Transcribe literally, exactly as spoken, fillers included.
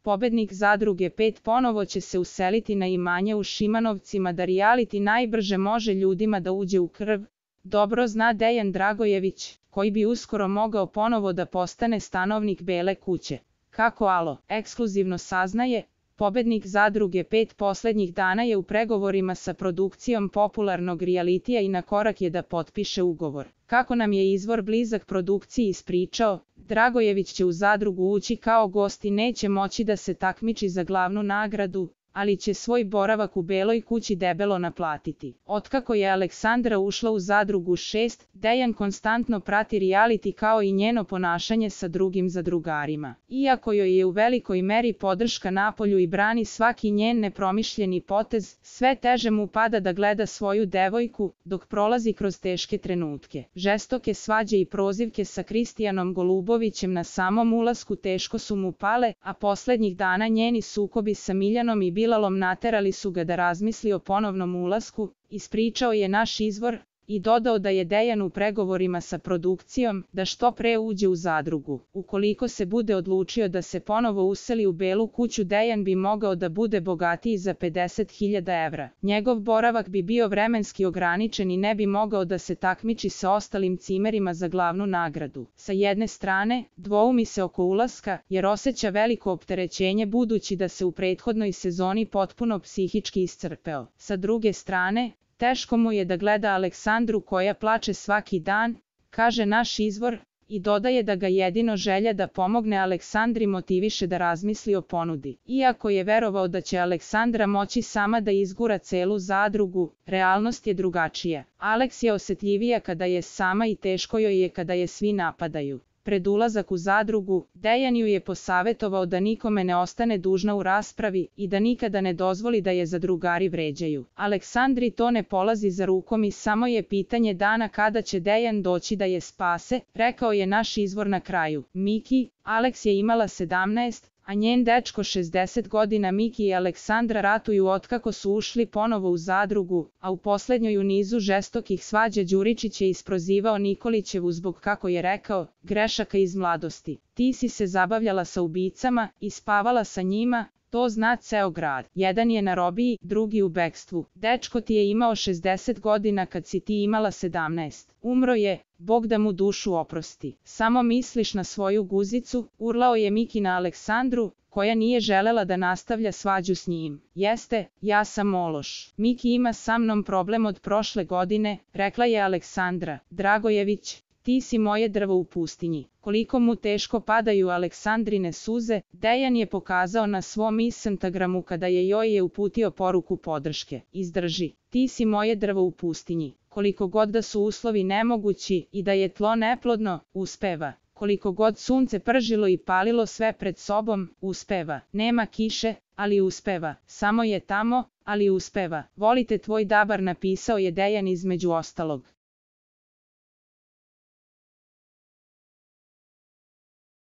pobednik Zadruge pet ponovo će se useliti na imanje u Šimanovcima da reality najbrže može ljudima da uđe u krv. Dobro zna Dejan Dragojević, koji bi uskoro mogao ponovo da postane stanovnik Bele kuće. Kako Alo ekskluzivno saznaje, pobednik Zadruge pet poslednjih dana je u pregovorima sa produkcijom popularnog realitija i na korak je da potpiše ugovor. Kako nam je izvor blizak produkciji ispričao, Dragojević će u Zadrugu ući kao gost i neće moći da se takmiči za glavnu nagradu, ali će svoj boravak u Beloj kući debelo naplatiti. Otkako je Aleksandra ušla u Zadrugu šest, Dejan konstantno prati reality kao i njeno ponašanje sa drugim zadrugarima. Iako joj je u velikoj meri podrška napolju i brani svaki njen nepromišljeni potez, sve teže mu pada da gleda svoju devojku, dok prolazi kroz teške trenutke. Žestoke svađe i prozivke sa Kristijanom Golubovićem na samom ulasku teško su mu pale, a poslednjih dana njeni sukobi sa Miljanom i Bilalom naterali su ga da razmisli o ponovnom ulasku, ispričao je naš izvor, i dodao da je Dejan u pregovorima sa produkcijom da što pre uđe u Zadrugu. Ukoliko se bude odlučio da se ponovo useli u Belu kuću, Dejan bi mogao da bude bogatiji za pedeset hiljada evra. Njegov boravak bi bio vremenski ograničen i ne bi mogao da se takmiči sa ostalim cimerima za glavnu nagradu. Sa jedne strane, dvoumi se oko ulaska, jer osjeća veliko opterećenje budući da se u prethodnoj sezoni potpuno psihički iscrpeo. Sa druge strane, teško mu je da gleda Aleksandru koja plače svaki dan, kaže naš izvor, i dodaje da ga jedino želja da pomogne Aleksandri motiviše da razmisli o ponudi. Iako je verovao da će Aleksandra moći sama da izgura celu Zadrugu, realnost je drugačija. Aleks je osetljivija kada je sama i teško joj je kada je svi napadaju. Pred ulazak u Zadrugu, Dejan ju je posavetovao da nikome ne ostane dužna u raspravi i da nikada ne dozvoli da je zadrugari vređaju. Aleksandri to ne polazi za rukom i samo je pitanje dana kada će Dejan doći da je spase, rekao je naš izvor na kraju. Miki, Aleks je imala sedamnaest, a njen dečko šezdeset godina. Miki i Aleksandra ratuju otkako su ušli ponovo u Zadrugu, a u poslednjoj u nizu žestokih svađa Đuričić je isprozivao Nikolićevu zbog, kako je rekao, grešaka iz mladosti. Ti si se zabavljala sa ubicama i spavala sa njima, to zna ceo grad. Jedan je na robiji, drugi u bekstvu. Dečko ti je imao šezdeset godina kad si ti imala sedamnaest. Umro je, Bog da mu dušu oprosti. Samo misliš na svoju guzicu, urlao je Miki na Aleksandru, koja nije želela da nastavlja svađu s njim. Jeste, ja sam ološ. Miki ima sa mnom problem od prošle godine, rekla je Aleksandra. Dragojević, ti si moje drvo u pustinji. Koliko mu teško padaju Aleksandrine suze, Dejan je pokazao na svom Instagramu kada je joj je uputio poruku podrške. Izdrži, ti si moje drvo u pustinji. Koliko god da su uslovi nemogući i da je tlo neplodno, uspeva. Koliko god sunce pržilo i palilo sve pred sobom, uspeva. Nema kiše, ali uspeva. Samo je tamo, ali uspeva. Volite tvoj dabar, napisao je Dejan između ostalog.